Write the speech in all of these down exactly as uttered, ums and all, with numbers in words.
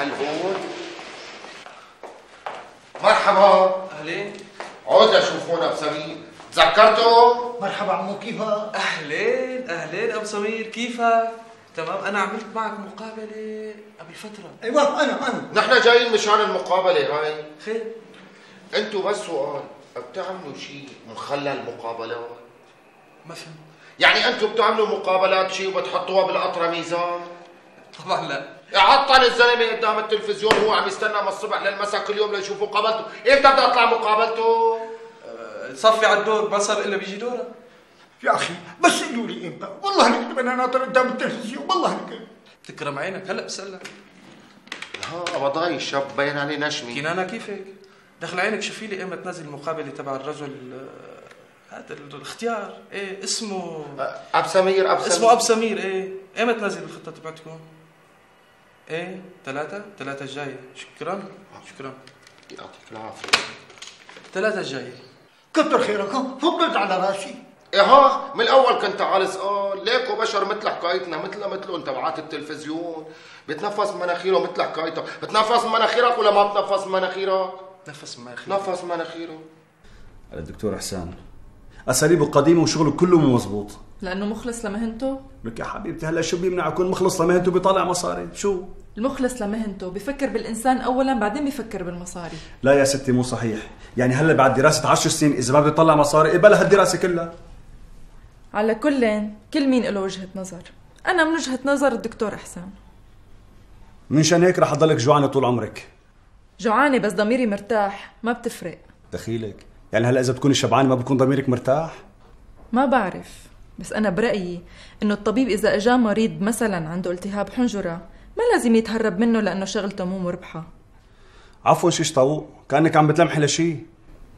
المحل هون؟ مرحبا. اهلين. عود لشوفونا ابو سمير، تذكرتوا؟ مرحبا عمو، كيفك؟ اهلين اهلين ابو سمير، كيفك؟ تمام. انا عملت معك مقابله قبل فتره. ايوه انا انا نحن جايين مشان المقابله هاي. خير. انتوا بس سؤال، بتعملوا شيء مخلى المقابلات؟ ما فهمت. يعني انتوا بتعملوا مقابلات شيء وبتحطوها بالقطره ميزان؟ طبعا لا. عطل الزلمه قدام التلفزيون وهو عم يستنى من الصبح للمساء كل يوم ليشوفوا مقابلته، امتى بدها تطلع مقابلته؟ أه صفي على الدور، ما صار الا بيجي دورك. يا اخي بس قولوا لي امتى، والله لك انا ناطر قدام التلفزيون، والله لك. تكرم عينك، هلا بسألك. ها وضاي الشاب باين عليه نشمي. كنانة كيفك؟ دخل عينك، شوفي لي ايمتى تنزل المقابله تبع الرجل هذا الاختيار، ايه اسمه اب سمير. اب سمير اسمه اب سمير. ايه ايمتى تنزل الخطه تبعتكم؟ ايه ثلاثة ثلاثة الجاية. شكرا شكرا يعطيك العافية. ثلاثة الجاية. كتر خيرك، فضلت على راسي. ايه ها من الاول كنت عالي سؤال، ليكو بشر مثل حكايتنا، مثل مثلهم تبعات التلفزيون، بتنفس مناخيره مثل حكايتك. بتنفس مناخيرك ولا ما بتنفس مناخيرك؟ نفس مناخيره. نفس مناخيره. الدكتور احسان اساليبه قديمه وشغله كله مو مزبوط. لانه مخلص لمهنته؟ لك يا حبيبتي هلا شو بيمنع يكون مخلص لمهنته بيطلع مصاري؟ شو المخلص لمهنته بفكر بالانسان اولا بعدين بفكر بالمصاري. لا يا ستي مو صحيح، يعني هلا بعد دراسه عشر سنين اذا ما بده يطلع مصاري قبلها الدراسه كلها. على كل كل مين له وجهه نظر، انا من وجهه نظر الدكتور احسان. منشان هيك رح اضلك جوعانه طول عمرك. جوعانه بس ضميري مرتاح، ما بتفرق. دخيلك يعني هلا اذا بتكوني شبعانه ما بكون ضميرك مرتاح؟ ما بعرف، بس انا برايي انه الطبيب اذا اجاه مريض مثلا عنده التهاب حنجره ما لازم يتهرب منه لانه شغلته مو مربحه. عفوا شيش طاووق، كانك عم بتلمحي لشي.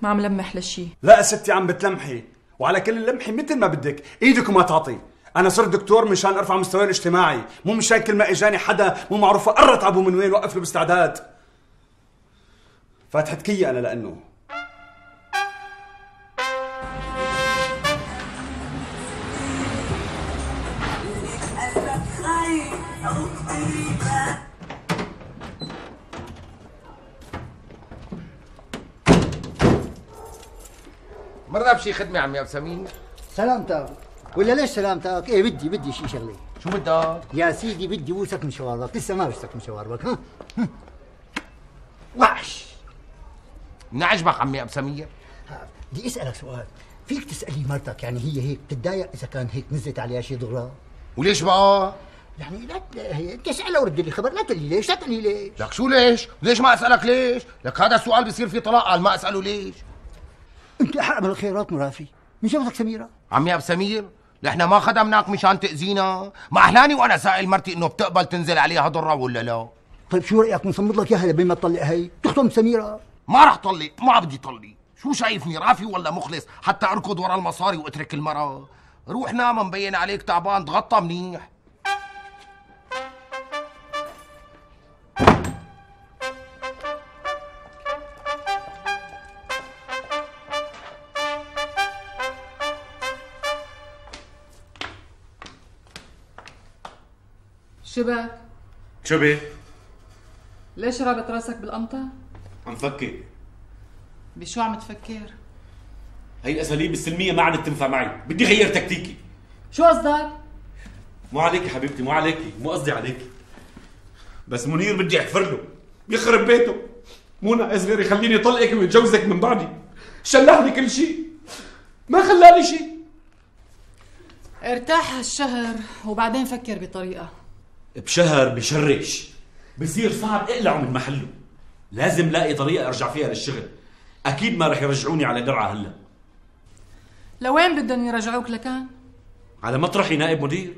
ما عم لمح لشي. لا ستي عم بتلمحي، وعلى كل لمحي مثل ما بدك، ايدك وما تعطي. انا صرت دكتور منشان ارفع مستواي الاجتماعي، مو منشان كل ما اجاني حدا مو معروف قرت ابو من وين وقف له باستعداد. فاتحة كية انا لانه مرة بشي خدمة عمي ابو سمير. سلامتك ولا ليش سلامتك؟ ايه بدي بدي شي شغله. شو بدك؟ يا سيدي بدي بوسك من شواربك، لسه ما بوسك من شواربك. ها وحش. من عجبك عمي ابو سمير؟ بدي اسالك سؤال، فيك تسالي مرتك يعني هي هيك بتتضايق اذا كان هيك نزلت عليها شي ضغرة؟ وليش بقى؟ يعني لا هي تسالها ورد لي خبر، لا تقول لي ليش، لا تقول لي ليش. لك شو ليش؟ ليش ما اسالك ليش؟ لك هذا السؤال بيصير فيه طلاق، قال ما اساله ليش؟ انت احق من الخيرات مرافي، من جوزك سميره؟ عمي ابو سمير نحن ما خدمناك مشان تاذينا، ما احلاني وانا سائل مرتي انه بتقبل تنزل عليها ضره ولا لا؟ طيب شو رايك نصمد لك اياها لبين ما تطلق هي، تخطم سميره؟ ما رح طلق، ما بدي طلق، شو شايفني رافي ولا مخلص حتى اركض ورا المصاري واترك المرأة؟ روح نام مبين عليك تعبان، تغطى منيح. شبك؟ شو بي؟ ليش رابط راسك بالقمطة؟ عم فكر. بشو عم تفكر؟ هي الاساليب السلميه ما عاد تنفع معي، بدي غير تكتيكي. شو قصدك؟ مو عليكي حبيبتي، مو عليكي، مو قصدي عليكي، بس منير بدي احفر له يخرب بيته. مو ناقص غير يخليني طلقك ويتجوزك من بعدي، شلحني كل شيء، ما خلاني شيء. ارتاح هالشهر وبعدين فكر بطريقة. بشهر بشرش بصير صعب اقلعه من محله، لازم لاقي طريقة ارجع فيها للشغل. اكيد ما رح يرجعوني على درعة هلا. لوين بدهم يرجعوك لكان؟ على مطرحي نائب مدير.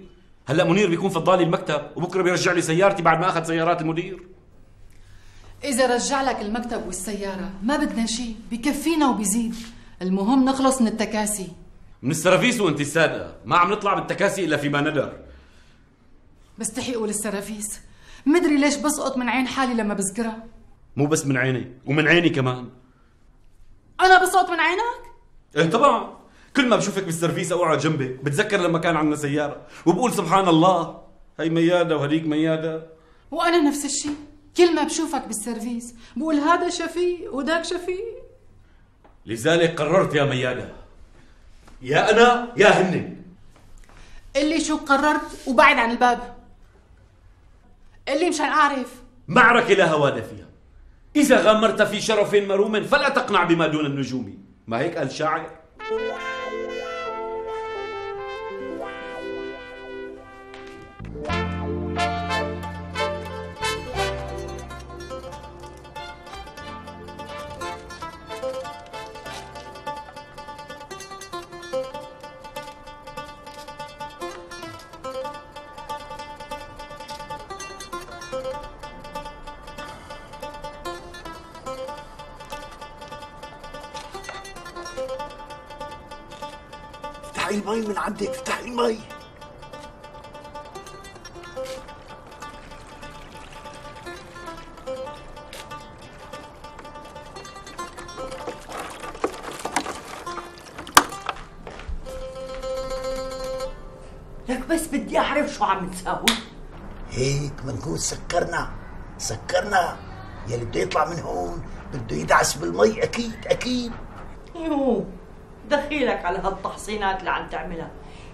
هلا منير بيكون فضالي المكتب وبكره بيرجع لي سيارتي بعد ما اخذ سيارات المدير. اذا رجع لك المكتب والسيارة ما بدنا شيء، بكفينا وبيزيد، المهم نخلص من التكاسي. من السرافيس وانت السادة، ما عم نطلع بالتكاسي الا فيما ندر. بستحي اقول السرافيس، مدري ليش بسقط من عين حالي لما بذكرها. مو بس من عيني، ومن عيني كمان. انا بسقط من عينك؟ ايه طبعا، كل ما بشوفك بالسرفيس او اقعد جنبك بتذكر لما كان عندنا سيارة وبقول سبحان الله، هي ميادة وهديك ميادة. وانا نفس الشيء. كل ما بشوفك بالسيرفيس بقول هذا شفيق وداك شفيق. لذلك قررت يا ميادة، يا أنا يا هن. قلي شو قررت وبعد عن الباب. قلي مشان أعرف. معركة لا هوان فيها، إذا غامرت في شرف مروم فلا تقنع بما دون النجوم، ما هيك قال شاعر؟ افتحي المي من عندك، افتحي المي. لك بس بدي اعرف شو عم تساوي. هيك بنكون سكرنا سكرنا يلي بده يطلع من هون بده يدعس بالمي. اكيد اكيد. يو دخيلك على هالتحصينات اللي عم تعملها،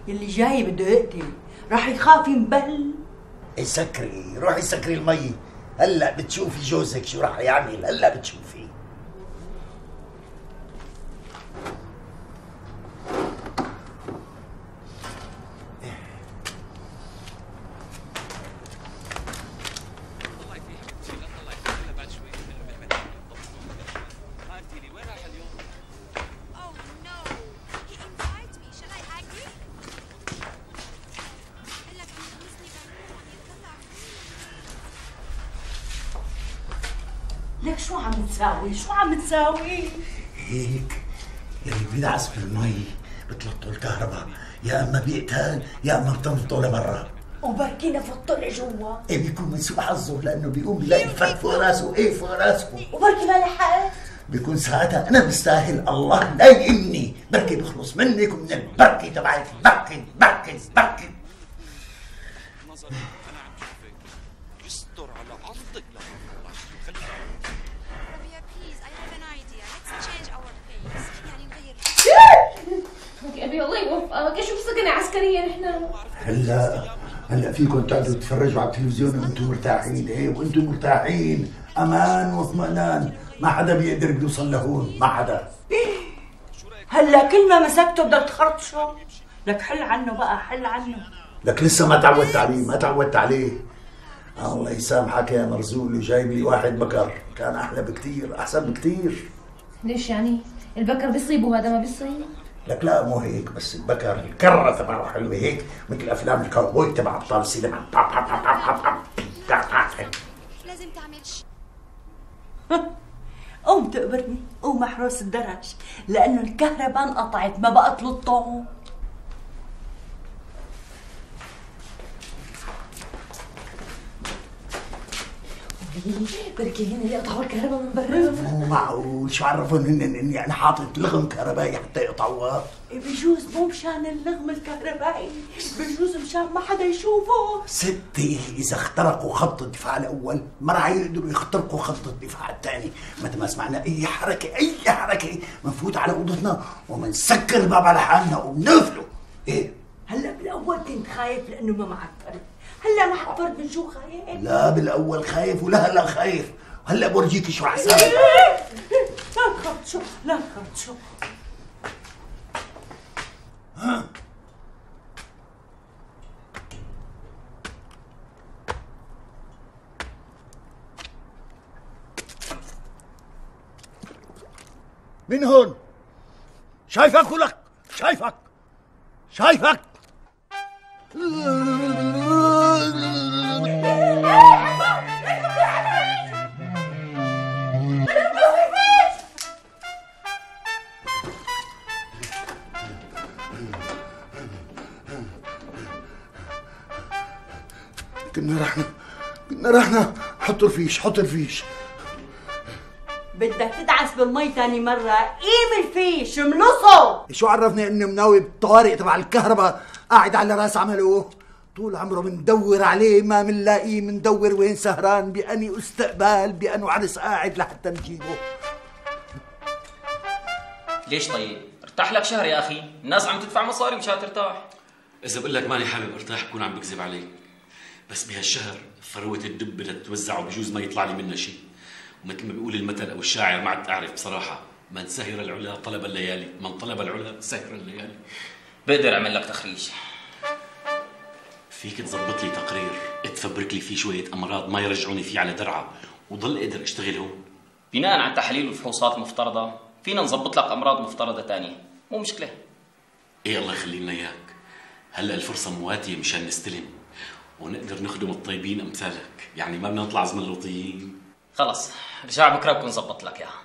يلي جاي بده يقتل راح يخاف ينبل. اي سكري، روحي سكري المي. هلا بتشوفي جوزك شو راح يعمل، هلا بتشوفي. لك شو عم تساوي؟ شو عم تساوي؟ هيك يلي بيدعس بالمي بتلطوا الكهرباء، يا اما بيقتل يا اما بتنفضوا لبرا. وبركي نفضته لجوا. ايه بيكون من سوء حظه لانه بيقوم بيلاقي الفك فوق راسه. ايه فوق راسه. وبركي ما لحقت. بيكون ساعتها انا بستاهل الله لا يهمني، بركي بخلص منك ومن البركه تبعك. بركي بركي بركي. أبي الله يوفقك. شوف سجن عسكرية نحن. هلا هلا فيكم تقعدوا تتفرجوا على التلفزيون وانتم مرتاحين. ايه وانتم مرتاحين، امان واطمئنان، ما حدا بيقدر يوصل لهون، ما حدا. هلا كل ما مسكته بدك تخرطشه. لك حل عنه بقى، حل عنه. لك لسه ما تعودت عليه، ما تعودت عليه. الله يسامحك يا مرزول، جايب لي واحد بكر كان احلى بكتير، احسن بكتير. ليش يعني؟ البكر بيصيب وهذا ما بيصيب؟ لك لا مو هيك، بس البكر الكرة تبعه حلوة هيك مثل افلام الكاوبوي تبع ابطال السينما. لازم تعمل شيء. قوم تقبرني، قوم محروس الدرج، لانه الكهرباء انقطعت ما بقى تلطه. بركي هن اللي قطعوا الكهرباء من برا. مو معقول، شو عرفهم هن اني انا حاطط لغم كهربائي حتى يقطعوها؟ بجوز مو مشان اللغم الكهربائي، بجوز مشان ما حدا يشوفه. ستي اذا اخترقوا خط الدفاع الاول ما راح يقدروا يخترقوا خط الدفاع الثاني. متى ما سمعنا اي حركه اي حركه بنفوت على اوضتنا وبنسكر الباب على حالنا وبنقفله. ايه هلا بالاول كنت خايف لانه ما معك فرد، هلا معك فرد من شو خايف؟ لا بالاول خايف ولا هلا خايف، هلا بورجيك شو رح اسوي. لا تخرطشو لا تخرطشو. ها من هون شايفك ولك شايفك شايفك. كنا رحنا كنا رحنا حطوا الفيش حطوا الفيش. بدك تدعس بالمي ثاني مرة، قيم الفيش ملصه. شو عرفني انه مناوي بالطوارئ تبع الكهرباء قاعد على راس عمله؟ طول عمره مندور عليه ما منلاقيه، مندور وين سهران، بأني استقبال، بأنه عرس قاعد لحتى نجيبه. ليش طيب؟ ارتاح لك شهر يا اخي، الناس عم تدفع مصاري مشان ترتاح. اذا بقول لك ماني حابب ارتاح بكون عم بكذب عليك، بس بهالشهر ثروة الدب بدها تتوزع وبجوز ما يطلع لي منها شيء، ومثل ما بيقول المثل او الشاعر ما عاد اعرف بصراحة، من سهر العلا طلب الليالي، من طلب العلا سهر الليالي. بقدر اعمل لك تخريج. فيك تظبط لي تقرير تفبرك لي فيه شوية امراض ما يرجعوني فيه على درعة وضل اقدر اشتغل هون؟ بناء على التحاليل والفحوصات المفترضة فينا نظبط لك امراض مفترضة تانية، مو مشكلة. ايه الله يخلي لنا اياك، هلا الفرصة مواتية مشان نستلم ونقدر نخدم الطيبين امثالك، يعني ما بدنا نطلع زملوطيين. خلص رجع بكره بكون ظبط لك اياها.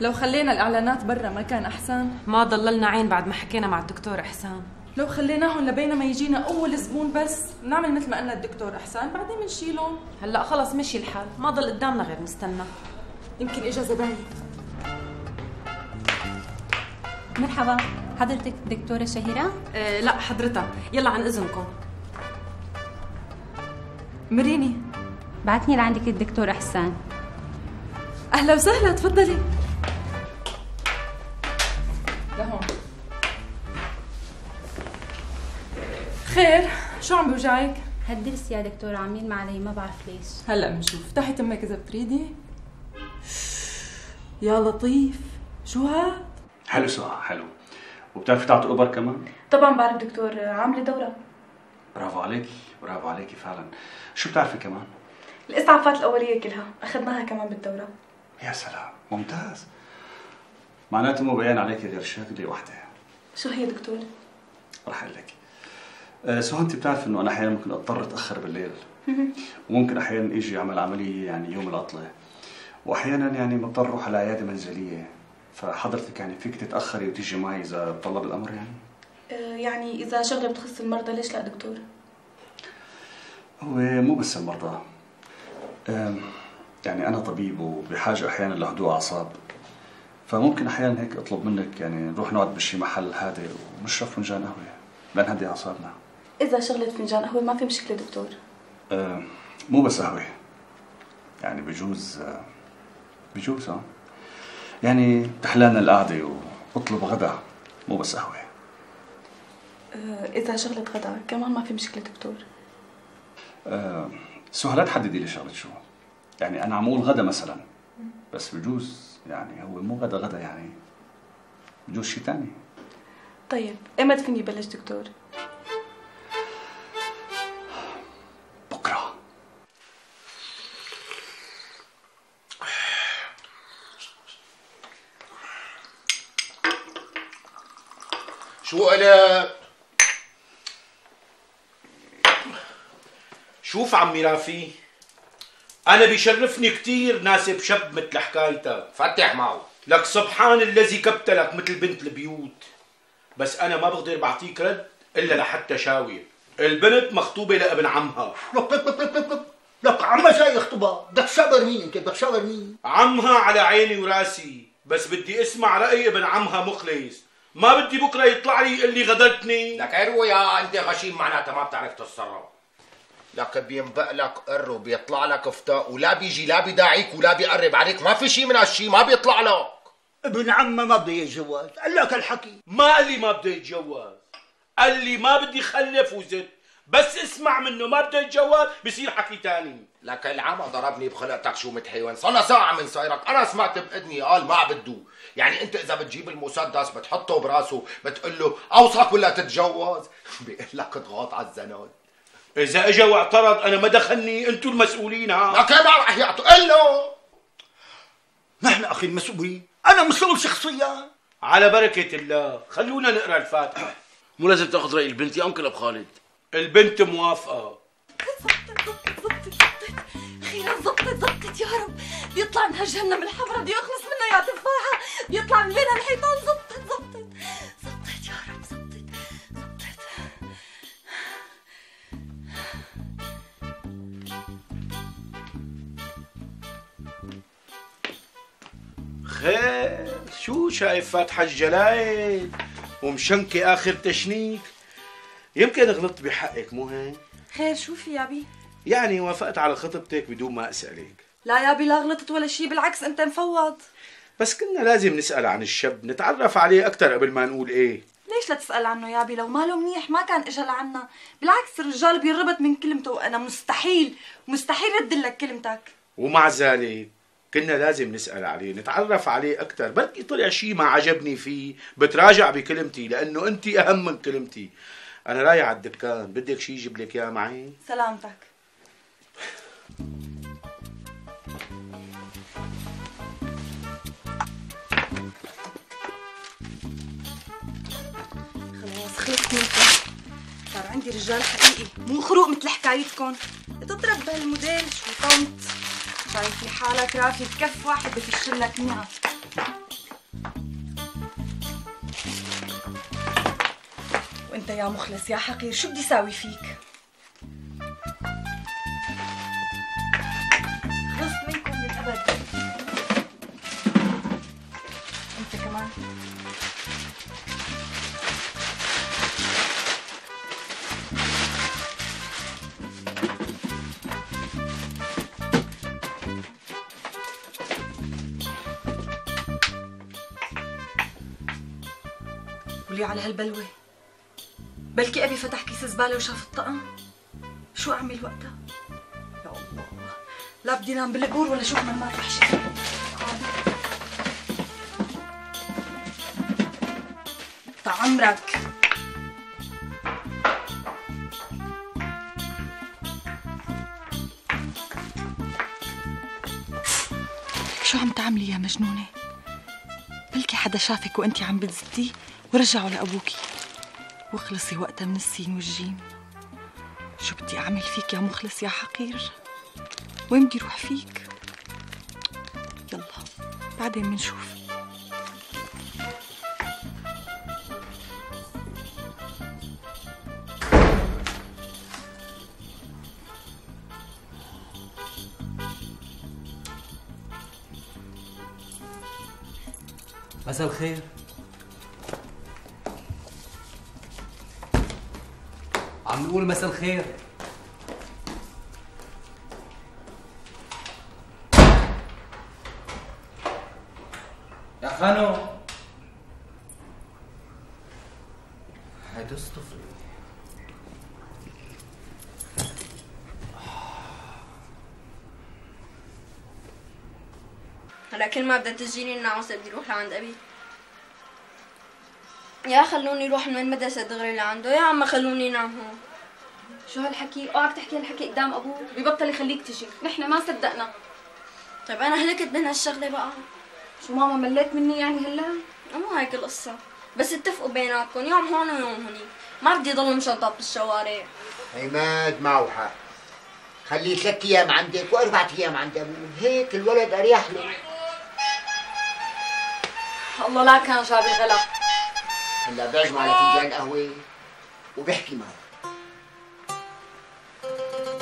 لو خلينا الاعلانات برا ما كان احسن؟ ما ضللنا عين بعد ما حكينا مع الدكتور احسان. لو خليناهم لبينا ما يجينا اول زبون بس نعمل مثل ما قلنا الدكتور احسان، بعدين بنشيلهم. هلا خلص مشي الحال، ما ضل قدامنا غير نستنى. يمكن اجا زباين. مرحبا، حضرتك الدكتورة شهيرة؟ أه لا حضرتها، يلا عن اذنكم. مريني بعتني لعندك الدكتور احسان. اهلا وسهلا، تفضلي. لهون. خير، شو عم بوجعك؟ هالدرس يا دكتورة عم يلمع علي ما بعرف ليش. هلا بنشوف، افتحي تمك اذا بتريدي. يا لطيف، شو هاد؟ حلو صح، حلو. وبتعرفي تعطي اوبر كمان؟ طبعا بعرف دكتور، عامله دوره. برافو عليكي، برافو عليكي فعلا. شو بتعرفي كمان؟ الاسعافات الاوليه كلها اخذناها كمان بالدوره. يا سلام، ممتاز. معناته مو بيان عليكي غير شغله وحده. شو هي دكتور؟ رح اقول لك. أه سو انت بتعرف انه انا احيانا ممكن اضطر اتاخر بالليل. وممكن احيانا اجي اعمل عمليه يعني يوم العطله. واحيانا يعني مضطر اروح على عياده منزليه. فحضرتك يعني فيك تتاخري وتيجي معي اذا طلب الامر يعني؟ أه يعني اذا شغله بتخص المرضى ليش لا دكتور؟ هو مو بس المرضى. أه يعني انا طبيب وبحاجه احيانا لهدوء اعصاب. فممكن احيانا هيك اطلب منك يعني نروح نقعد بشي محل هادئ ونشرب فنجان قهوه لنهدي اعصابنا. اذا شغله فنجان قهوه ما في مشكله دكتور. أه مو بس قهوه. يعني بجوز أه بجوز اه يعني تحلانا القعده واطلب غدا مو بس قهوه. أه اذا شغله غدا كمان ما في مشكله دكتور. أه سو هلا تحددي لي شغله شو. يعني انا عم اقول غدا مثلا، بس بجوز يعني هو مو غدا غدا، يعني بجوز شيء ثاني. طيب ايمتى فيني بلش دكتور؟ بكره. شو قلت؟ شوف عمي رافي، أنا بيشرفني كتير ناسب شاب مثل حكايتك. فتح معه. لك سبحان الذي كبتلك مثل بنت البيوت. بس أنا ما بقدر بعطيك رد إلا لحتى شاوي. البنت مخطوبة لابن عمها. لك عمها جاي يخطبها، بدك تشاور مين انت؟ بدك تشاور مين؟ عمها على عيني وراسي، بس بدي اسمع رأي ابن عمها مخلص. ما بدي بكره يطلع لي يقول لي غدرتني. لك يا انت غشيم معناتها ما بتعرف تتصرف. لك بينبق لك قر وبيطلع لك فتاء ولا بيجي لا بيداعيك ولا بيقرب عليك، ما في شيء من هالشيء، ما بيطلع لك. ابن عمه ما بده يتجوز، قال لك الحكي. ما قال لي ما بده يتجوز، قال لي ما بدي خلف وزت، بس اسمع منه ما بده يتجوز بصير حكي تاني. لك العمى ضربني بخلقتك شو متحيوان، صار ساعة من صايرك، أنا سمعت بإذني قال ما بده، يعني أنت إذا بتجيب المسدس بتحطه براسه بتقول له أوصك ولا تتجوز؟ بيقول لك اضغط على الزناد. إذا إجا واعترض أنا ما دخلني، أنتوا المسؤولين. ها لك ما رح يعطوا، قل له نحن أخي المسؤولين، أنا مسؤول شخصيا. على بركة الله، خلونا نقرأ الفاتحة. مو لازم تاخذ رأي البنت يا أنكل أبو خالد؟ البنت موافقة. زبطت زبطت زبطت زبطت أخيرا زبطت زبطت يا رب. بيطلع من هالجهنم الحمراء بده يخلص منها يا تفاحة، بيطلع من بين هالحيطان. زبطت زبطت زبطت يا رب، زبطت زبطت. خير شو شايف فاتحة الجلايد ومشنكة آخر تشنيك؟ يمكن غلطت بحقك مو هيك؟ خير شو في يابي؟ يعني وافقت على خطبتك بدون ما اسالك. لا يابي لا غلطت ولا شي، بالعكس انت مفوض. بس كنا لازم نسال عن الشاب، نتعرف عليه اكثر قبل ما نقول ايه. ليش لا تسال عنه يابي؟ لو ماله منيح ما كان اجى لعنا، بالعكس الرجال بيربط من كلمته، وانا مستحيل مستحيل رد لك كلمتك. ومع ذلك كنا لازم نسال عليه، نتعرف عليه اكثر، بركي طلع شيء ما عجبني فيه بتراجع بكلمتي، لانه انت اهم من كلمتي. انا رايح على الدكان، بدك شيء يجيب لك اياه معي؟ سلامتك. خلاص خلصت منكم، صار عندي رجال حقيقي مو خروق مثل حكايتكم. بتضرب بهالموديل شو طنط، شايفي حالك رافي بكف واحد بفشل لك مئة. وانت يا مخلص يا حقير شو بدي ساوي فيك؟ خلصت منكم للأبد. انت كمان. قولي على هالبلوة، بلكي أبي فتح كيس زبالة وشاف الطقم. شو أعمل وقتها؟ يا الله، لا بدي نام بالقبور ولا شوف مرمات وحشة. تعمرك. شو عم تعملي يا مجنونة؟ بلكي حدا شافك وانتي عم بتزتي ورجعوا لأبوكي، واخلصي وقتها من السين والجيم. شو بدي أعمل فيك يا مخلص يا حقير؟ وين بدي روح فيك؟ يلا بعدين منشوف. مساء الخير. عم نقول مساء الخير. يا خانو هيدا الصفر. هلا كل ما بدها تجيني النعوسة بدي اروح لعند ابي. يا خلوني اروح من المدرسة دغري لعنده، يا عم خلوني نام هون. شو هالحكي؟ اوعك تحكي هالحكي قدام ابوك، ببطل يخليك تجي، نحن ما صدقنا. طيب انا هلكت من هالشغلة بقى. شو ماما مليت مني يعني هلا؟ مو هيك القصة، بس اتفقوا بيناتكم يوم هون ويوم هونيك، ما بدي ضلوا مشنطط بالشوارع. عماد معه حق، خليه ثلاث ايام عندك واربع ايام عند ابوه، هيك الولد اريح له. الله لا كان جاب الغلا. هلا بيعجمه على فنجان قهوه وبيحكي معه.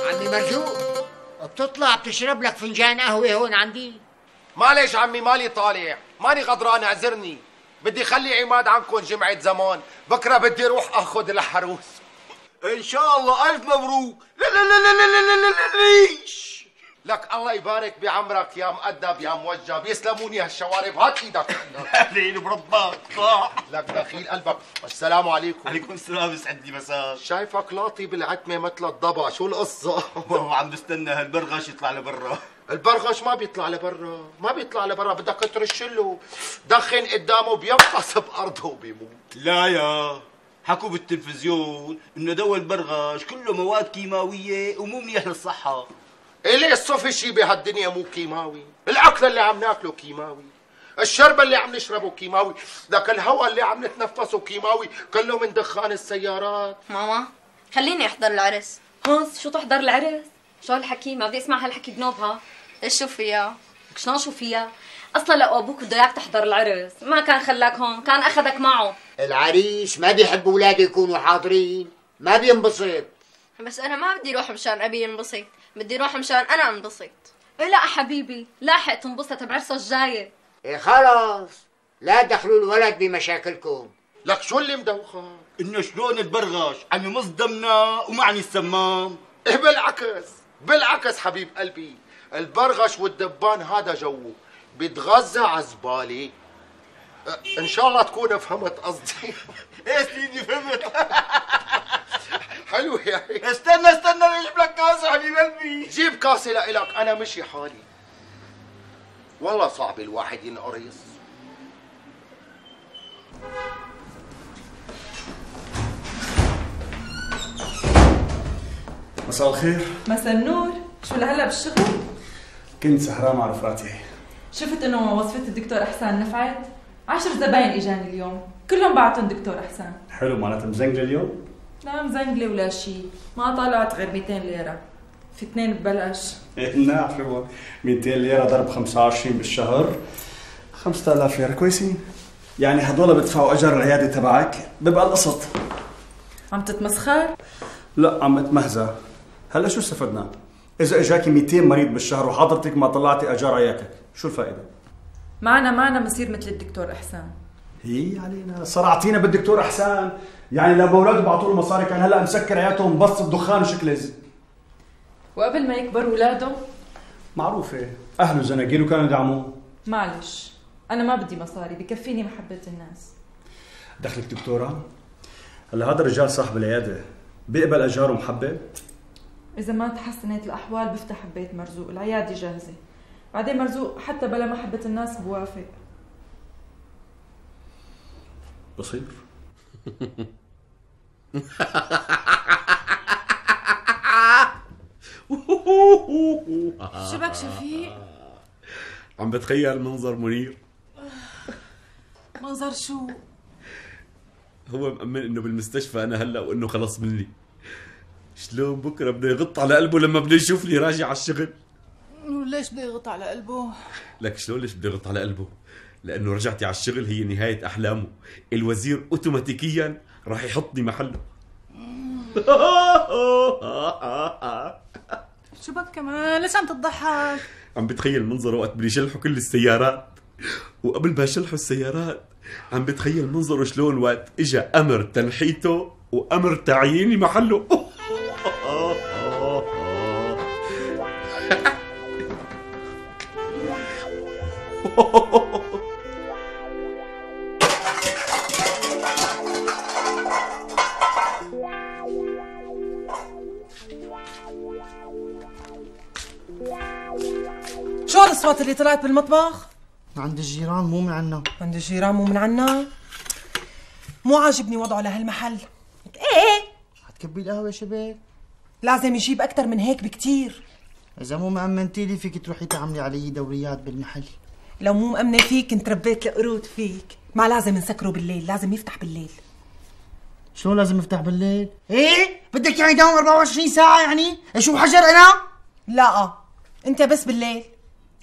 عمي مرزوق بتطلع بتشرب لك فنجان قهوه هون عندي؟ معلش عمي مالي طالع، ماني غدران اعذرني، بدي خلي عماد عنكم جمعة زمان، بكره بدي اروح اخذ الحروس. ان شاء الله الف مبروك. لا لا لا لا لا لا لا ليش؟ لك الله يبارك بعمرك يا مؤدب يا موجب، يسلموني هالشوارب، هات ايدك. اهلين بربك طلع. لك دخيل قلبك. السلام عليكم. عليكم السلام، يسعد لي مساك. شايفك لاطي بالعتمه مثل الضبع، شو القصه؟ والله عم بستنى هالبرغش يطلع لبرا. البرغش ما بيطلع لبرا، ما بيطلع لبرا، بدك ترش له دخن قدامه بينقص بارضه وبيموت. لا يا حكوا بالتلفزيون انه دواء البرغش كله مواد كيماويه ومو منيح للصحه. إلي الصفي شي بهالدنيا مو كيماوي، الأكل اللي عم ناكله كيماوي، الشرب اللي عم نشربه كيماوي، لك الهواء اللي عم نتنفسه كيماوي، كله من دخان السيارات. ماما خليني احضر العرس. هانس شو تحضر العرس؟ شو هالحكي؟ ما بدي اسمع هالحكي بنوبها. ايش شو فيها؟ شلون شو فيها؟ اصلا لو ابوك بده اياك تحضر العرس ما كان خلاك هون، كان اخذك معه. العريس ما بيحب اولاده يكونوا حاضرين، ما بينبسط. بس انا ما بدي اروح مشان ابي ينبسط، بدي اروح مشان انا انبسط. إيه لا حبيبي، لاحق تنبسط بعرسه الجايه. إيه خلص لا تدخلوا الولد بمشاكلكم. لك شو اللي مدوخك؟ انه شلون تبرغش عم يمص دمنا ومعني السمام. إيه بالعكس بالعكس حبيب قلبي، البرغش والدبان هذا جوه بيتغذى على الزبالة. ان شاء الله تكون فهمت قصدي. ايه سيدي فهمت. حلو يا هيك. استنى استنى اجيب لك كاسة حبيب قلبي. جيب كاسة لإلك، انا مشي حالي. والله صعب الواحد ينقرص. مساء الخير. مساء النور. شو لهلا بالشغل؟ كنت سهران مع رفقاتي. شفت انه وصفة الدكتور احسان نفعت؟ عشر زباين اجاني اليوم، كلهم بعتهم دكتور احسان. حلو، معناتها مزنقله اليوم؟ لا مزنقله ولا شيء، ما طلعت غير مئتين ليرة. في اثنين ببلش. نعم حلوة، مئتين ليرة ضرب خمسة وعشرين بالشهر، خمسة آلاف ليرة كويسين. يعني هدول بدفعوا اجر العيادة تبعك، بيبقى القسط. عم تتمسخر؟ لا عم اتمهزأ. هلا شو استفدنا؟ إذا اجاكي مئتين مريض بالشهر وحضرتك ما طلعتي اجار عيادتك، شو الفائدة؟ معنا معنا مصير مثل الدكتور احسان. هي علينا صرعتينا بالدكتور احسان، يعني لما اولاده بعطوا له مصاري كان هلا مسكر عيادته مبسط دخان وشكلز. وقبل ما يكبر اولاده معروفة، اهله زناقيل وكانوا يدعموه. معلش، انا ما بدي مصاري، بكفيني محبة الناس. دخلك دكتورة؟ هلا هذا الرجال صاحب العيادة بيقبل اجاره محبة؟ اذا ما تحسنت الاحوال بفتح بيت مرزوق، العيادة جاهزة. بعدين مرزوق حتى بلا محبة الناس بوافق. بصير. شو بك شفيق؟ عم بتخيل منظر منير. منظر شو؟ هو مأمن انه بالمستشفى انا هلا وانه خلص مني. شلون بكره بده يغط على قلبه لما بده يشوفني راجع على الشغل. وليش بده يغط على قلبه؟ لك شلون ليش بده يغط على قلبه؟ لانه رجعتي على الشغل هي نهايه احلامه، الوزير اوتوماتيكيا راح يحطني محله. شو بك كمان؟ ليش عم تضحك؟ عم بتخيل منظره وقت بده يشلحوا كل السيارات، وقبل ما يشلحوا السيارات عم بتخيل منظره شلون وقت اجى امر تنحيته وامر تعييني محله. شو هالأصوات اللي طلعت بالمطبخ؟ عند الجيران مو من عنا. عند الجيران مو من عنا؟ مو عاجبني وضعه لهالمحل. ايه حتكبي القهوة شباب؟ لازم يجيب أكتر من هيك بكتير. إذا مو مأمنتي لي فيك تروحي تعملي علي دوريات بالمحل. لو مو مأمنة فيك كنت ربيت القرود فيك. ما لازم نسكره بالليل، لازم يفتح بالليل. شو لازم يفتح بالليل؟ ايه؟ بدك يعني يداوم أربعة وعشرين ساعة يعني؟ شو حجر أنا؟ لا أنت بس بالليل.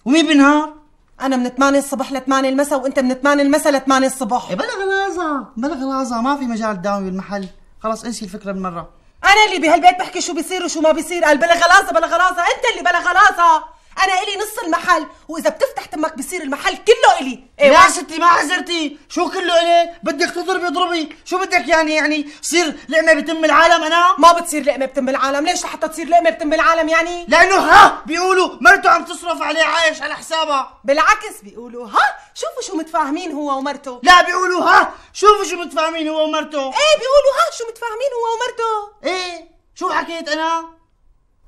ومين بالنهار؟ أنا من ثمانية الصبح ل ثمانية المساء وأنت من ثمانية المساء ل ثمانية الصبح. إيه بلا غلازة بلا غلازة، ما في مجال تداومي بالمحل، خلاص انسي الفكرة بالمرة. أنا اللي بهالبيت بحكي شو بيصير وشو ما بيصير، قال بلا غلازة بلا غلازة، أنت اللي بلا غلازة. أنا إلي نص المحل، وإذا بتفتح تمك بصير المحل كله إلي. إيه يا ستي ما حزرتي، شو كله إلي؟ بدك تضربي اضربي، شو بدك يعني يعني صير لقمة بتم العالم أنا؟ ما بتصير لقمة بتم العالم، ليش لحتى تصير لقمة بتم العالم يعني؟ لأنه ها بيقولوا مرته عم تصرف عليه عايش على حسابها. بالعكس بيقولوا ها شوفوا شو متفاهمين هو ومرته. لا بيقولوا ها شوفوا شو متفاهمين هو ومرته. إيه بيقولوا ها شو متفاهمين هو ومرته. إيه شو حكيت أنا؟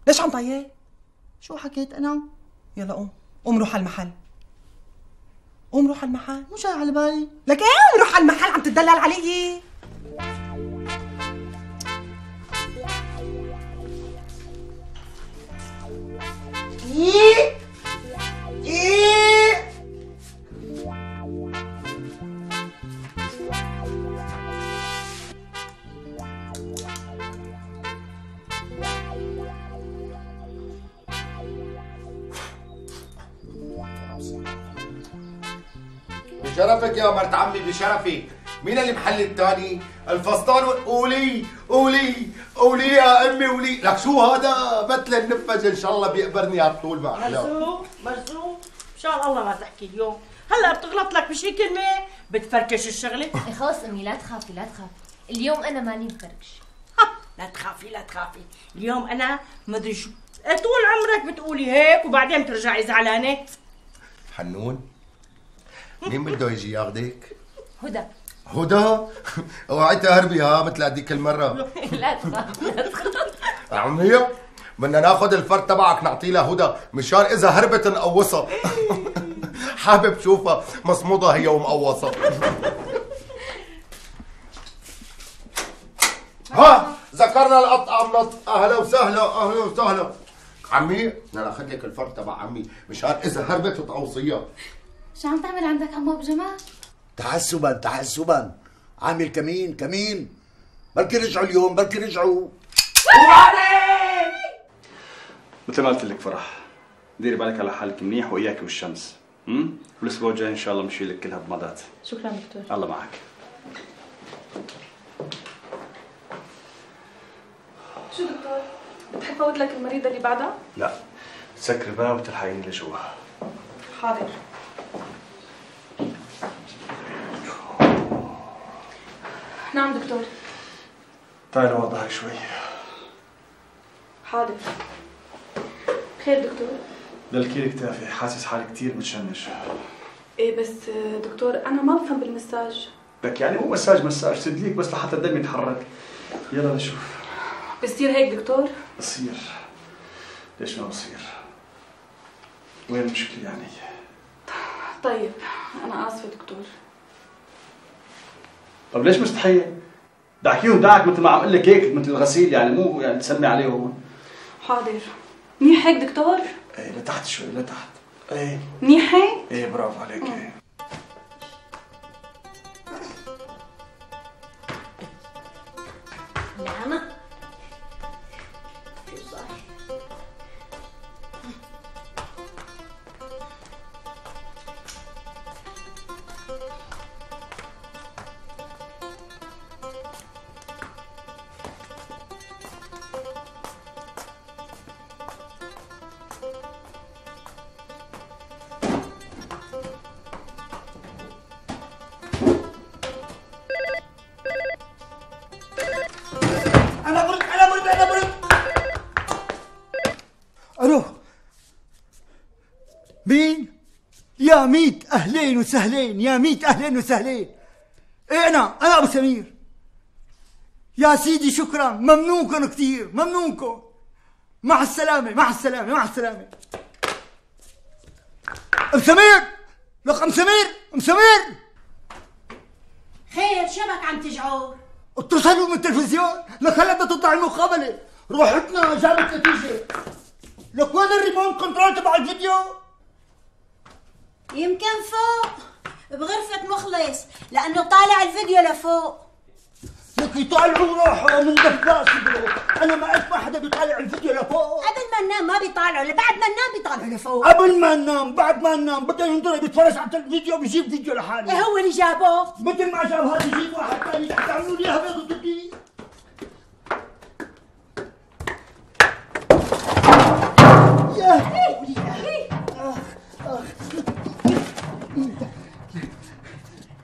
ليش عم طيب؟ شو حكيت أنا؟ يلا قوم قوم روح على المحل. قوم روح على المحل. مو جاي على بالي. لك ايه قوم روح على المحل، عم تدلل علي. ايه ايه بشرفك يا مرت عمي بشرفك. مين اللي محل الثاني؟ الفستان. قولي قولي قولي يا امي قولي. لك شو هذا؟ مثل النفذ ان شاء الله بيقبرني على طول مع احلام. مرزوق مرزوق شان الله ما تحكي اليوم، هلا بتغلط لك بشي كلمة بتفركش الشغلة. خلص امي لا تخافي لا تخافي، اليوم انا ماني مفركش. لا تخافي لا تخافي، اليوم انا مدري شو، طول عمرك بتقولي هيك وبعدين بترجعي زعلانة. حنون مين بده يجي ياخذك؟ هدى. هدى؟ اوعي تهربي ها مثل هذيك المرة. لا تخاف لا تخاف. عمية بدنا ناخذ الفرد تبعك نعطيه لهدى مشان اذا هربت نقوصها. حابب شوفها مصمودة هي ومقوصة. ها ذكرنا القطعة منط. اهلا وسهلا اهلا وسهلا. عمي بدنا ناخذ لك الفرد تبع عمي مشان اذا هربت تقوصيها. شو عم تعمل عندك عمو ابو جمال؟ تحسبا تحسبا عامل كمين كمين. بلكي رجعوا اليوم بلكي رجعوا. مثل ما قلت لك فرح، ديري بالك على حالك منيح واياك والشمس، امم والاسبوع الجاي ان شاء الله بنشيل لك كل هالضمادات. شكرا دكتور. الله معك. شو دكتور؟ بتحب فوت لك المريضة اللي بعدها؟ لا، سكر الباب وتلحقيني لجوا. حاضر. نعم دكتور. تعالي وضعك شوي. حاضر. خير دكتور؟ دلكيلي كتافي، حاسس حالي كثير متشنج. ايه بس دكتور انا ما بفهم بالمساج. لك يعني مو مساج مساج، تدليك بس لحتى الدم يتحرك. يلا نشوف. بصير هيك دكتور؟ بصير. ليش ما بصير؟ وين المشكلة يعني؟ طيب انا اسفة دكتور. طب ليش مستحية؟ دعكيهم دعك مثل ما عم اقول لك هيك مثل الغسيل يعني، مو يعني تسمي عليهم. حاضر. منيح هيك دكتور؟ ايه لتحت شوي لتحت. ايه منيح هيك؟ ايه برافو عليك. ايه نعم شو صار؟ الو مين؟ يا ميت اهلين وسهلين، يا ميت اهلين وسهلين. ايه انا انا ابو سمير. يا سيدي شكرا، ممنونكم كثير ممنونكم. مع السلامة مع السلامة مع السلامة. ام سمير لك ام سمير ام سمير. خير شبك عم تجعر؟ اتصلوا من التلفزيون لك هلا بدها تطلع المقابلة، روحتنا جابت نتيجة. لك وين الريموت كنترول تبع الفيديو؟ يمكن فوق بغرفة مخلص لأنه طالع الفيديو لفوق. لك يطالعوا روحه من دفاس. أنا ما أسمع حدا بيطالع الفيديو لفوق. قبل ما ننام ما بيطالعوا، بعد ما ننام بيطالعوا لفوق. قبل ما ننام بعد ما ننام بده ينطر بيتفرج على الفيديو بيجيب فيديو لحاله. إيه هو اللي جابه؟ مثل ما جاب هذا يجيب واحد ثاني تعملوا لي هبل وتبدي.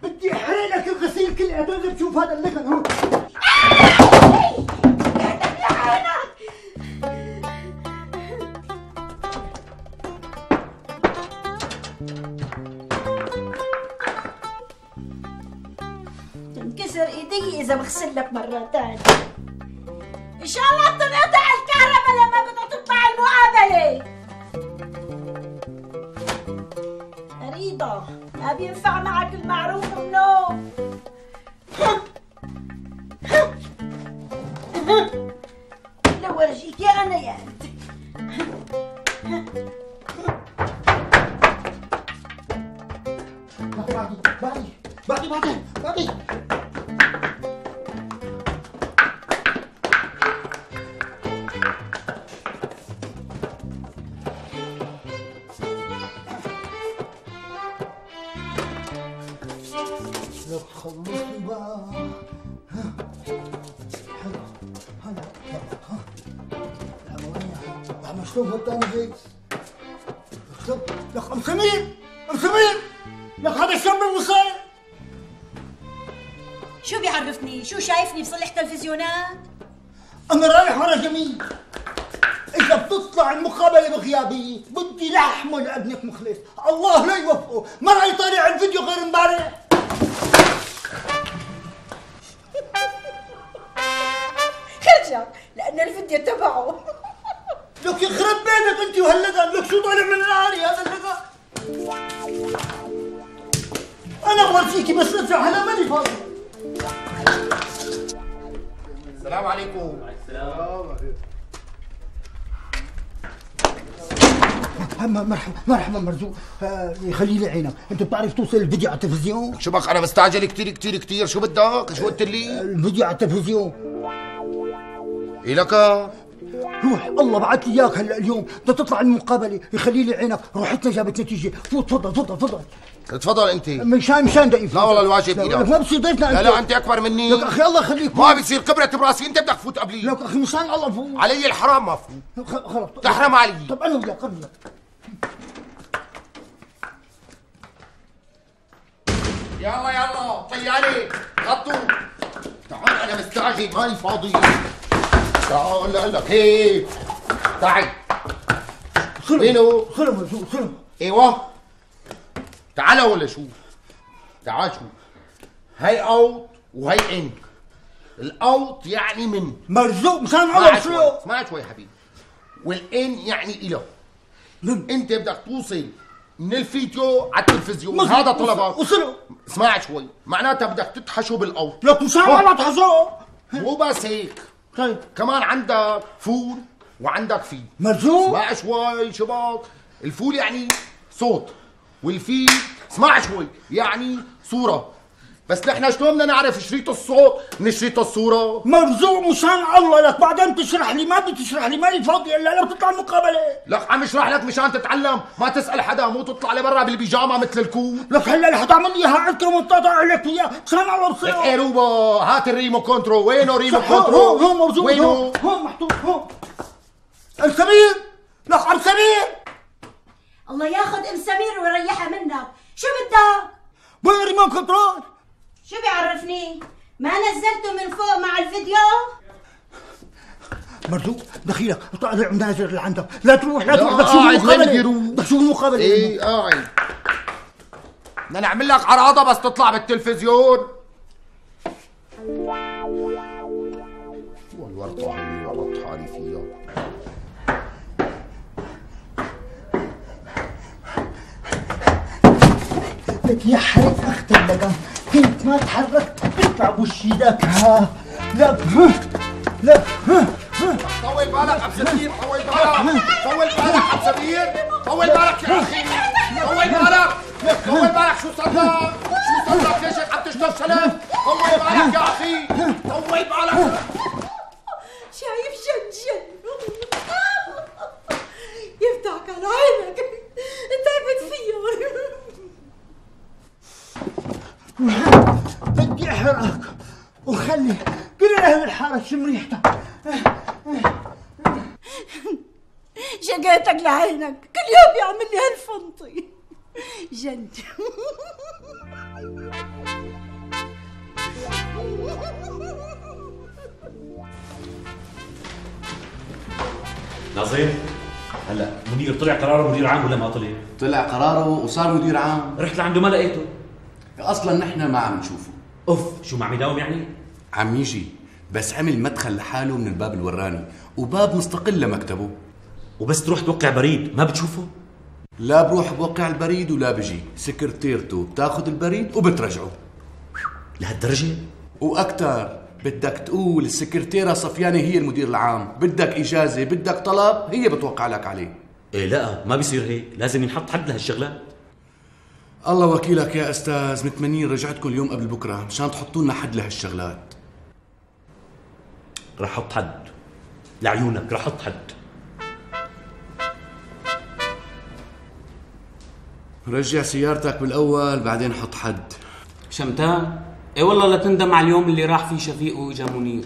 بدي احرق لك الغسيل كله هدول بشوف هذا اللكن هو. تنكسر ايدي اذا بغسل لك مرة ثانية. ان شاء الله تنقطع الكهرباء لما بدها تطلع المقابلة. مريضة ما بينفع معك المعروف منه. لو ورجيك يا انا يا انت. بعدي بعدي بعدي بعدي. لك خلصني بقى. حلو هلا ها عم اشرب الثاني هيك. لك ام سمير ام سمير لك هذا الشاب بالوصاية. شو بيعرفني؟ شو شايفني بصلح تلفزيونات؟ انا رايح ورا جميل. اذا بتطلع المقابله بغيابي بدي لحمه لابنك مخلص، الله لا يوفقه، ما راح يطالع الفيديو غير امبارح. خرجك لان الفيديو تبعه. لك يخرب بيتك انت وهاللقا، لك شو طالع من ناري هذا اللقا. انا بورجيكي بس ارجع هلا ماني فاضي. السلام عليكم. السلام. مرحبا مرحبا مرزوق. آه خلي لي عينك، انت بتعرف توصل الفيديو على التلفزيون؟ شو بك انا مستعجل كثير كثير كثير، شو بدك؟ شو قلت لي؟ الفيديو على التلفزيون. إيه لك؟ روح الله بعت لي اياك هلا اليوم، بدها تطلع المقابله، يخلي لي عينك، روحتنا جابت نتيجه، فوت تفضل تفضل تفضل. تفضل انت. مشان مشان ضيف. لا والله الواجب ايدك. لك ما بصير ضيفنا انت. لا لا انت اكبر مني. لك اخي الله يخليك. ما بيصير كبرة براسي، انت بدك تفوت قبلي. لك اخي مشان الله فوت. علي الحرام ما فوت. خلص تحرم علي. طب انا وياك انا وياك. يلا يلا طياري غطوا. تعال انا مستعجل ماني فاضي. تعال اقول لك هيك. تعال. وينه؟ خلوا مرزوق خلوا. ايوه. تعال ولا شو؟ تعال شو؟ هي اوت وهي ان. الاوت يعني من مرزوق مشان الله شو؟ اسمع شوي حبيبي. والان يعني إله. انت بدك توصل من الفيديو على التلفزيون، هذا طلبك. وصلوا. اسمع شوي، معناتها بدك تتحشوا بالاوت. لك مشان الله تحشوا. مو بس هيك. طيب كمان عندك فول وعندك في. مرزوق. اسمع شوي شباب، الفول يعني صوت، والفي اسمع شوي يعني صورة. بس نحن شلون بدنا نعرف شريط الصوت من شريط الصورة؟ مرزوق مشان الله لك بعدين تشرح لي، ما بدي تشرح لي، ماني فاضي الا لو تطلع المقابلة. لك عم اشرح لك مشان تتعلم، ما تسأل حدا، مو تطلع لبرا بالبيجامة مثل الكوت. لك هلا اللي حتعمل لي اياها عندك ومنطقة لك اياها، مشان الله بصير. لك ايه روبا، هات الريمو كنترول، وينه ريمو كنترول؟ هون هون مرزوق، وينه؟ هون هون محطوط هون. ام سمير، لك ام سمير. الله ياخذ ام سمير ويريحها منك، شو بدك؟ وين ريمو كنترول؟ شو بيعرفني؟ ما نزلته من فوق مع الفيديو؟ مرزوق دخيلك، طالع نازل اللي عندك، لا تروح لا تروح، بدك تشوف المقابلة، بدك تشوف المقابلة. ايه قاعد. بدنا نعمل لك عراضة بس تطلع بالتلفزيون. شو الورطة هي ورطت حالي فيها؟ لك يا حريق اخت اللقا، كنت ما تحركت تطلع بوش ايدك. ها لك ها لك ها ها. طول بالك عبد سمير، طول بالك، طول بالك عبد سمير، طول بالك يا اخي، طول بالك، طول بالك. شو صار لك؟ شو صار لك؟ ليش هيك عم تشتغل سلام؟ طول بالك يا اخي، طول بالك. شايف جنجن يفتحك على عينك، تعبت فيه. بدي احرقك وخلي كل اهل الحاره تشم ريحتك. شقيتك لعينك، كل يوم بيعمل لي هالفنطي. جنت. ناظر، هلا منير طلع قراره مدير عام ولا ما طلع؟ طلع قراره وصار مدير عام. رحت لعنده ما لقيته. اصلا نحن ما عم نشوفه. اوف، شو ما عم يداوم يعني؟ عم يجي، بس عمل مدخل لحاله من الباب الوراني وباب مستقل لمكتبه. وبس تروح توقع بريد ما بتشوفه؟ لا بروح بوقع البريد ولا بجي، سكرتيرته بتاخذ البريد وبترجعه. لهالدرجة؟ واكثر، بدك تقول السكرتيرة صفيانة هي المدير العام، بدك اجازة بدك طلب هي بتوقع لك عليه. ايه لا ما بيصير هيك، لازم ينحط حد لهالشغلات. الله وكيلك يا استاذ، متمنين رجعتكم اليوم قبل بكره مشان تحطوا لنا حد لهالشغلات. رح احط حد لعيونك، رح احط حد. رجع سيارتك بالاول بعدين حط حد. شمتان؟ اي والله لا تندم على اليوم اللي راح فيه شفيق واجا منير.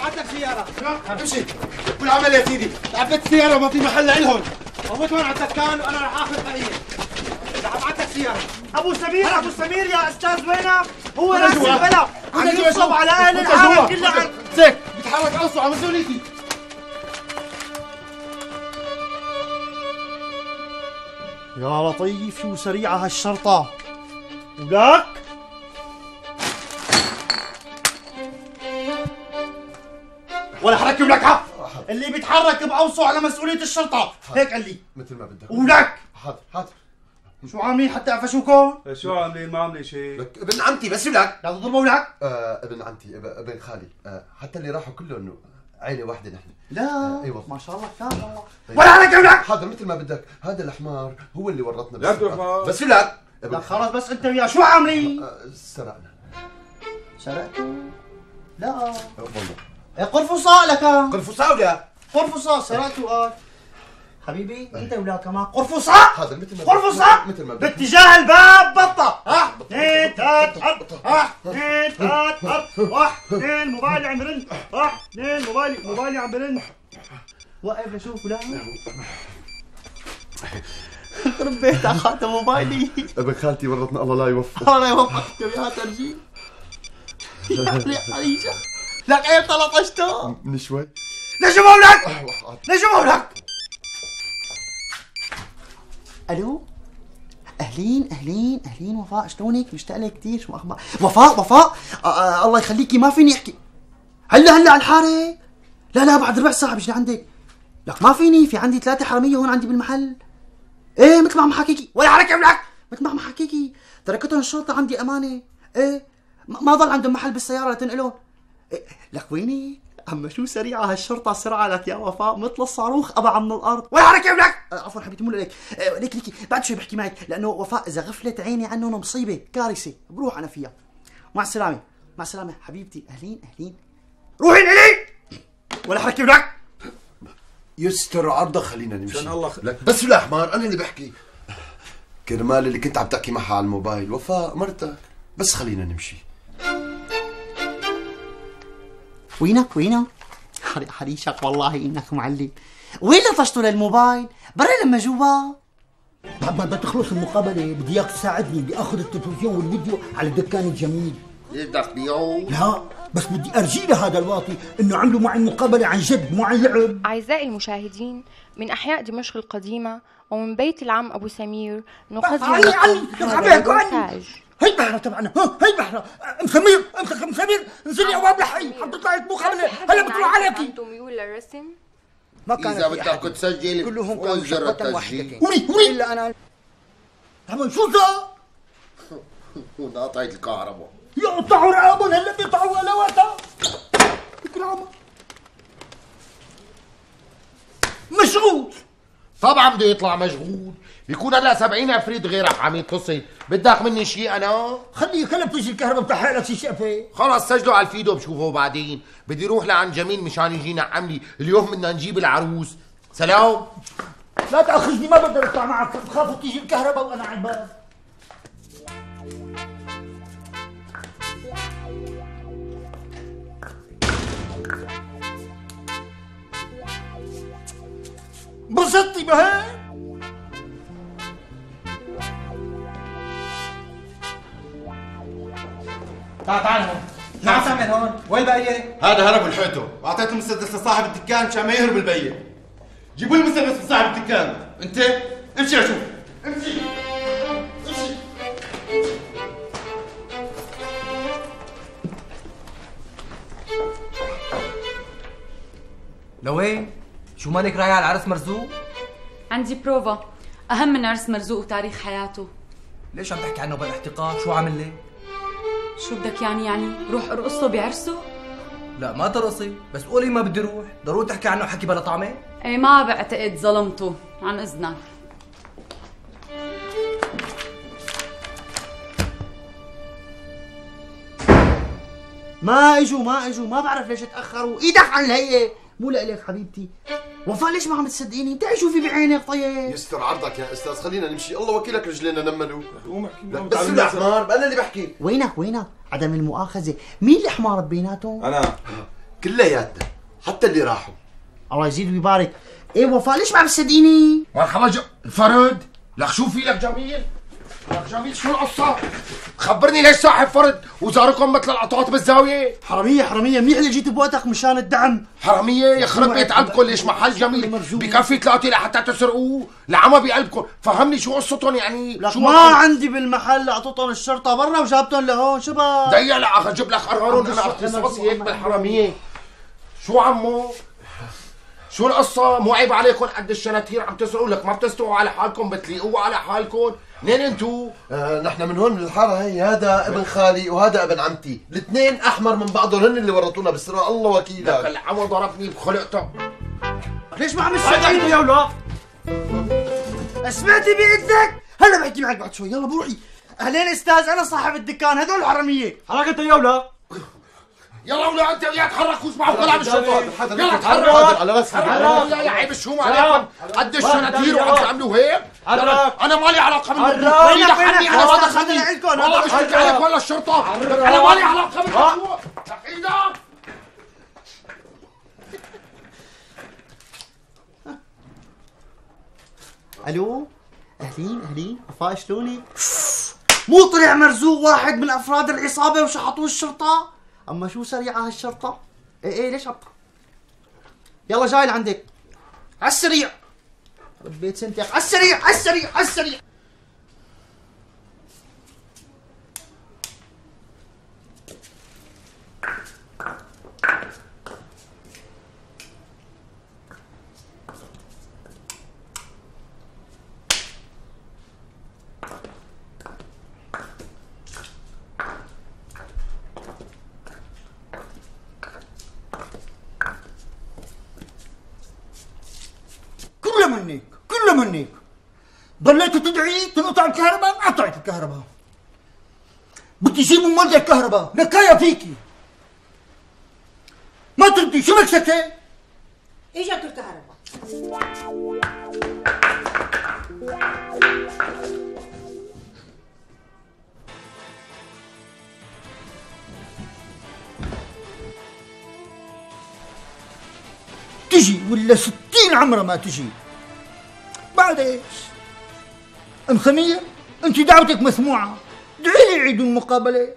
بعت لك سيارة. امشي والعمل يا سيدي عبيت السيارة وما في محل لإلهم موت هون على الدكان وأنا رح آخذ بقية رح أبعتك سيارة أبو سمير أبو سمير يا أستاذ وينك؟ هو راس البلد بده ينصب على أهل العالم كلها زيك بتحرك أوسع على مسؤوليتي يا لطيف شو سريعة هالشرطة ولك ولا حركة ولك حق اللي بيتحرك بأوصوا على مسؤولية الشرطة هيك قال لي مثل ما بدك ولك حاضر حاضر شو عاملين حتى قفشوكم؟ شو عاملين ما عاملين شيء لك ابن عمتي بس ولك لا تضربوا ولك؟ آه ابن عمتي اب- ابن خالي آه حتى اللي راحوا كلهم عائلة واحدة نحن لا آه ايوه ما شاء الله كان الله ولا حركة ولك حاضر مثل ما بدك هذا الحمار هو اللي ورطنا لا بالسرقة. تروح. بس ولك لا خلص بس انت وياه شو عاملين؟ آه سرقنا سرقتوا؟ لا آه والله إيه قرفصاء لك قرفصاء ولا قرفصاء سرقتوا قال حبيبي انت ولا كمان قرفصاء حاضر مثل ما قرفصاء مثل ما بدك باتجاه الباب بطة ها اثنين ثلاث حط ها اثنين ثلاث حط واحد اثنين موبايلي عم برن واحد اثنين موبايلي موبايلي عم برن وقف لشوف ولا خرب بيتك اخذت موبايلي ابن خالتي ورطنا الله لا يوفق الله لا يوفقك يا ترجي يا حريجة لك ايه طلطشته من شوي نجم مولك نجم مولك الو اهلين اهلين اهلين وفاء شلونك مشتاق لك كثير شو اخبار وفاء وفاء آه آه الله يخليكي ما فيني احكي هلا هلا على الحاره لا لا بعد ربع ساعه بيجي لعندك لك ما فيني في عندي ثلاثه حراميه هون عندي بالمحل ايه مثل ما عم حكيكي ولا حركه ابنك مثل ما عم حكيكي تركتهم الشرطه عندي امانه ايه ما ضل عندهم محل بالسياره لتنقلهم إيه؟ لك ويني اما شو سريعه هالشرطه سرعه لك يا وفاء مثل الصاروخ ابعا من الارض ولا حركه ابنك آه عفوا حبيبتي مو لك آه ليك ليكي بعد شوي بحكي معك لانه وفاء اذا غفلت عيني عنهم مصيبه كارثه بروح انا فيها مع السلامه مع السلامه حبيبتي اهلين اهلين روحي لي ولا حركه ابنك يستر عرضك خلينا نمشي عشان الله خ... لك بس ولا حمار انا اللي بحكي كرمال اللي كنت عم تحكي معها على الموبايل وفاء مرتك بس خلينا نمشي وينك وينك حريشك والله انك معلم وين لطشته للموبايل برا لما جوا بعد ما بدها تخلص المقابله بدي اياك تساعدني بدي اخذ التلفزيون والفيديو على الدكان الجميل ليش بدك تبيعه؟ لا بس بدي ارجي لهذا الواطي انه عملوا معي المقابله عن جد مو عن لعب. اعزائي المشاهدين من احياء دمشق القديمه ومن بيت العم ابو سمير نقدم لكم هذا المونتاج. هي بحرة تبعنا ها هي بحرة ام سمير امسك ام سمير انزلي ابواب لحي عم تطلعي مقابله هلا بتروح عليكي. انتم ميول للرسم ما كان اذا بدك تسجل كلهم كانوا شغلة واحدة وري وري الا انا عمل شو ذا؟ وقطعت الكهرباء يقطعوا رقابهم هلا بيقطعوا الواتها العمر مشغول طبعا بده يطلع مشغول بيكون هلا سبعين عفريت غيرك عم يتصل بدك مني شيء انا خليه كلب تجي الكهرباء بتحرق لك شي شقفه خلص سجلوا على الفيديو بشوفه بعدين بدي روح لعند جميل مشان يجي نعم لي اليوم بدنا نجيب العروس سلام لا تاخذني ما بقدر اطلع معك بخاف تيجي الكهرباء وانا على الباب. انبسطتي بهي؟ تعال تعال هون شو عم تعمل هون؟ وين البقية؟ هذا هرب لحقته واعطيته المسدس لصاحب الدكان مشان ما يهرب البقية. جيبوا لي المسدس لصاحب الدكان، انت امشي لشوف، امشي امشي. لوين؟ شو مالك رايح على العرس مرزوق؟ عندي بروفا أهم من عرس مرزوق وتاريخ حياته. ليش عم تحكي عنه بالاحتقار؟ شو عامل لي؟ شو بدك يعني يعني روح ارقصه بعرسه؟ لا ما ترقصي، بس قولي ما بدي روح، ضروري تحكي عنه حكي بلا طعمه؟ ايه ما بعتقد ظلمته، عن اذنك. ما اجوا ما اجوا ما بعرف ليش تاخروا ايدك عن الهيئه مو لك حبيبتي. وفاء ليش ما عم تصدقيني؟ انت شوفي بعينك طيب. يستر عرضك يا استاذ خلينا نمشي الله وكيلك رجلينا نملوا. قوم احكي معه بس يا حمار انا اللي بحكي. وينك وينك عدم المؤاخذه مين اللي حمار بيناتهم؟ انا كلياتنا حتى اللي راحوا. الله يزيد ويبارك. ايه وفاء ليش ما عم تصدقيني؟ مرحبا ج... فرد لك شو في لك جميل؟ لك جميل شو القصة؟ خبرني ليش صاحب فرد وزاركم مثل القطاط بالزاوية؟ حرامية حرامية منيح اللي جيت بوقتك مشان الدعم. حرامية يخرب بيت قلبكم ليش محل جميل بكفي ثلاثة لحتى تسرقوه؟ لعمى بقلبكم، فهمني شو قصتهم يعني؟ لك شو ما عندي بالمحل اعطيتهم الشرطة برا وجابتهم لهون شو بقى؟ دقيقة لا اجيب لك قرارون انا اختصاصي هيك بالحرامية. شو عمو؟ شو القصة؟ مو عيب عليكم قد الشناتير عم تسرقوا لك ما بتستووا على حالكم بتليقوا على حالكم؟ منين انتو؟ آه نحن من هون من الحارة هي، هذا ابن خالي وهذا ابن عمتي، الاثنين احمر من بعضهم، هن اللي ورطونا بالسرقة الله وكيلك. لك العمو ضربني بخلقتك. ليش ما عم تصدقيني يا ولاد؟ سمعتي بإذنك؟ هلا بحكي معك بعد شوي، يلا بروحي. اهلين استاذ، انا صاحب الدكان، هدول حرامية. حرك انت يا ولاد. يلا ولا انت وياه تحركوا اسمعوا كلام الشرطة. يلا تحرك. على راسي. يا يا عيب الشوم عليكم قد الشناتير وعم تعملوا هيك؟ انا مالي علاقة بالموضوع. وينك عني انا ما دخلني. والله بشتكي عليك ولا الشرطة. انا مالي علاقة بالموضوع. ايدك. الو اهلين اهلين وفاء شلونك؟ مو طلع مرزوق واحد من افراد العصابة وشحطوه الشرطة؟ اما شو سريعة هالشرطة؟ ايه ايه ليش عبطة؟ يلا جاي لعندك عالسريع. ربيت سنتك عالسريع عالسريع عالسريع. كله منك كله منك. ضليتوا تدعي تنقطع الكهرباء، انقطعت الكهرباء. بدي يجيبوا مولد الكهرباء، نكاية فيكي. ما تردي، شو مكسكة؟ اجت الكهرباء. تجي ولا ستين عمرها ما تجي. بعد ايش؟ ام سمير انت دعوتك مسموعه، ادعي لي عيد المقابله.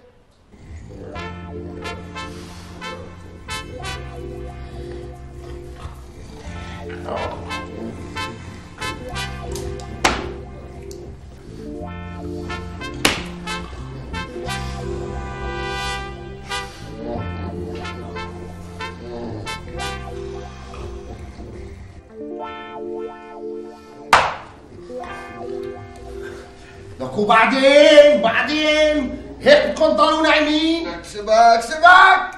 لك وبعدين بعدين هيك بدكم تضلوا نايمين؟ اكسبك سبك.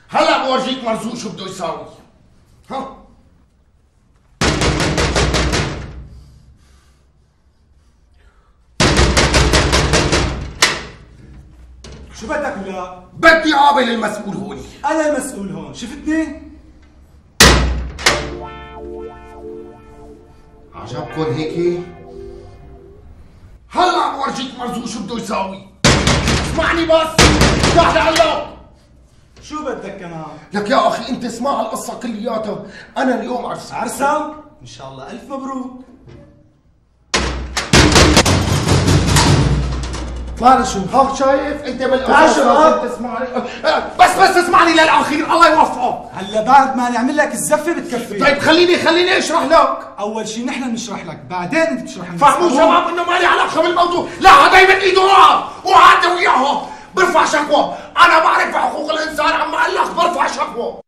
هلا بورجيك مرزوق شو بده يساوي. ها شو بدك ولا؟ بدي قابل المسؤول هوني. انا المسؤول هون، شفتني؟ عجبكم هيك؟ هلا بورجيك مرزوق شو بده يساوي. اسمعني بس افتح لهلا. شو بدك كمان؟ لك يا اخي انت اسمع القصه كلياتها، انا اليوم عرسان. عرسان؟ ان شاء الله الف مبروك. ما شو هاك شايف انت بالاساس لازم تسمعني. بس بس اسمعني للاخير الله يوفقك. هلا بعد ما نعمل لك الزفه بتكفي. طيب خليني خليني اشرح لك. اول شيء نحن بنشرح لك، بعدين انت تشرح لنا. فهموا شباب انه ما لي علاقه بالموضوع، لا هذا يمد ايده وراه وهذا وياها برفع شكوى. انا بعرف حقوق الانسان، عم اقول لك برفع شكوى.